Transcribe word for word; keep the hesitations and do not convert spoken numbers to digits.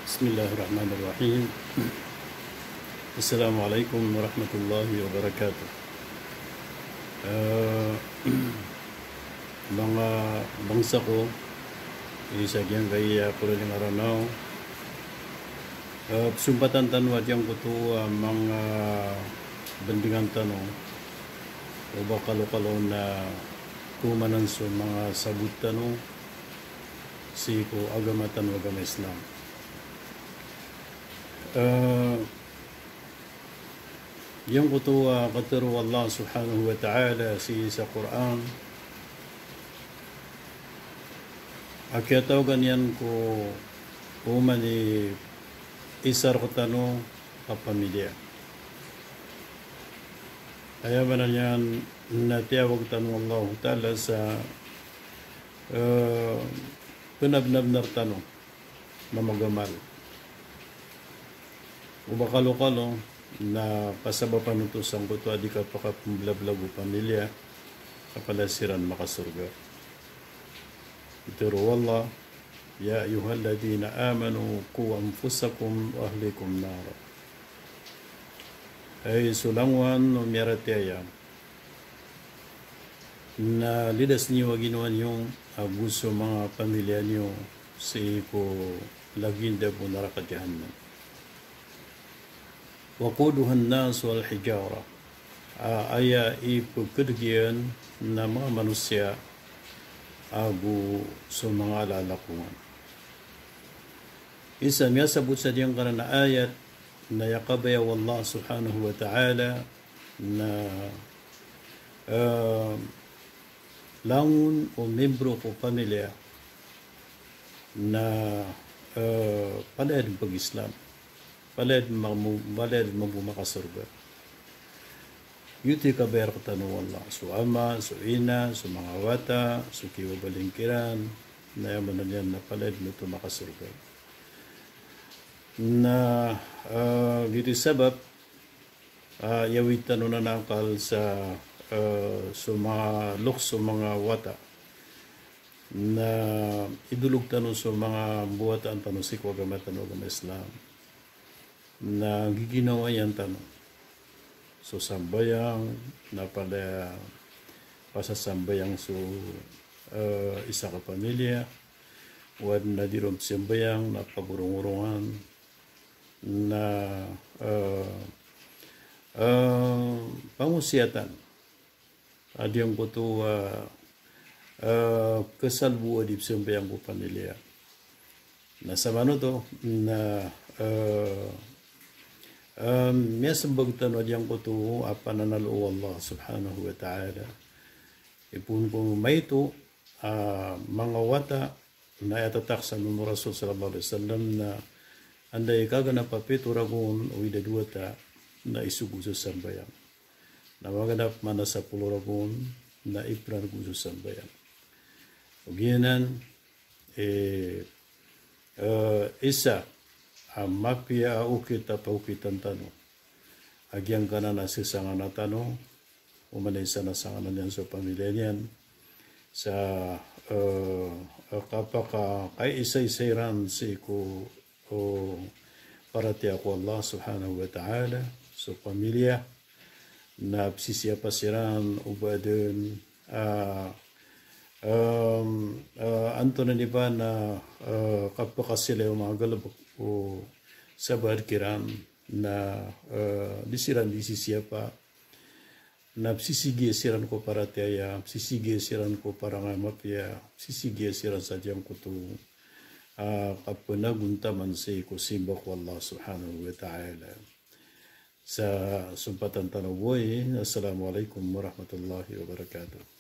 Bismillahirrahmanirrahim. Assalamu alaikum warahmatullahi wabarakatuh. Eh, manga bangsa ko, isa giyangkaya a kololing a Ranaw. Eh, pzompatan tano a giyangkoto a manga bandingan tano o ba kalokalo na komanan so manga sabot tano sii ko agama tano a agama Islam. Eh, giyangkoto a katharo o Allah subhanahu wa ta'ala sii sa Qur'an a kiyatawagan iyan ko oman i isa rktano a pamilya. Aya maana niyan na tiyawag tano o Allah ta'ala sa, eh, pnabnabnar tano na magamal. O ba kalokalo na kasabapan oto sangkoto a di kapakapmblablag o pamilya, ka palaya siran makasorga. Pitharo o Allah, "Ya ayyuhalladhina amanu qu anfusakum wa ahlikum nara." Hay so langowan o miyaratiyaya, na lidas niyo a ginawa niyo ago so manga pamilya niyo sii ko lagid bo naraka jahannam. Waquduhan nas wal hijara. A, aya ipkdg iyan na manga manosiya ago so manga alalakongan. Isa miyasabot sa giyangkanan a ayat na aya kabaya o Allah subhanahu wa ta'ala na, eh, langon o membro ko pamilya na, eh, palaya dn pag-Islam, palaya dn mambo, palaya dn mambo makasorga. Giyoto i kabaya rktano o Allah. So ama, so ina, so manga wata, so kibabaling kiran, na aya maana niyan na palaya dn oto makasorga. Na, eh, giyoto i sabap, ah, iyawid tano nan a akal sa, eh, so manga loks o manga wata. Na idolog tano so manga mbawataan tano sii ko agama tano a agama Islam. Na giginawayan tano so sambayang, na palaya pasasambayang so, eh, isa ka pamilya, o adn a di ron pzambayang na pagorongorongan, na, eh, eh, pangosiyatan a giyangkoto a, eh, kasalbo a di pzambayang ko pamilya. Na samanoto na, eh, eh, miyasmbag tano a giyangkoto a pananalo o Allah subhanahu wa ta'ala. Ipoon ko maito a manga wata na aya tatak sa mama o Rasul sallallahu alaihi wasallam na anda i kaganap a pito ragon o ida dowata na isogo so sambayang. Na maganap man a sapolo ragon na iprargo so sambayang. Ogaid anan, eh, eh, isa a mapiya a okit a paokitan tano a giyangkanan a sasangana tano, oman i isa na sangana niyan so pamilya niyan, sa, eh, kapakakaisaisa iran sii ko o paratiyaya ko Allah subhanahu wa ta'ala, so pamilya, na pzisiyapa siran o ba dn, ah, em, eh, antonaa i ba na, eh, kapakasilay o manga galbk o sabaad kiran na, eh, di siran di sisiyapa, na pzisigiya siran ko paratiyaya, pzisigiya siran ko parangay a mapiya, pzisigiya siran sa giyangkoto a kapnagontaman sii ko simba ko Allah subhanahu wa ta'ala. Sa sompatan tano bo i, assalamu alaikum warahmatullahi wabarakatuh.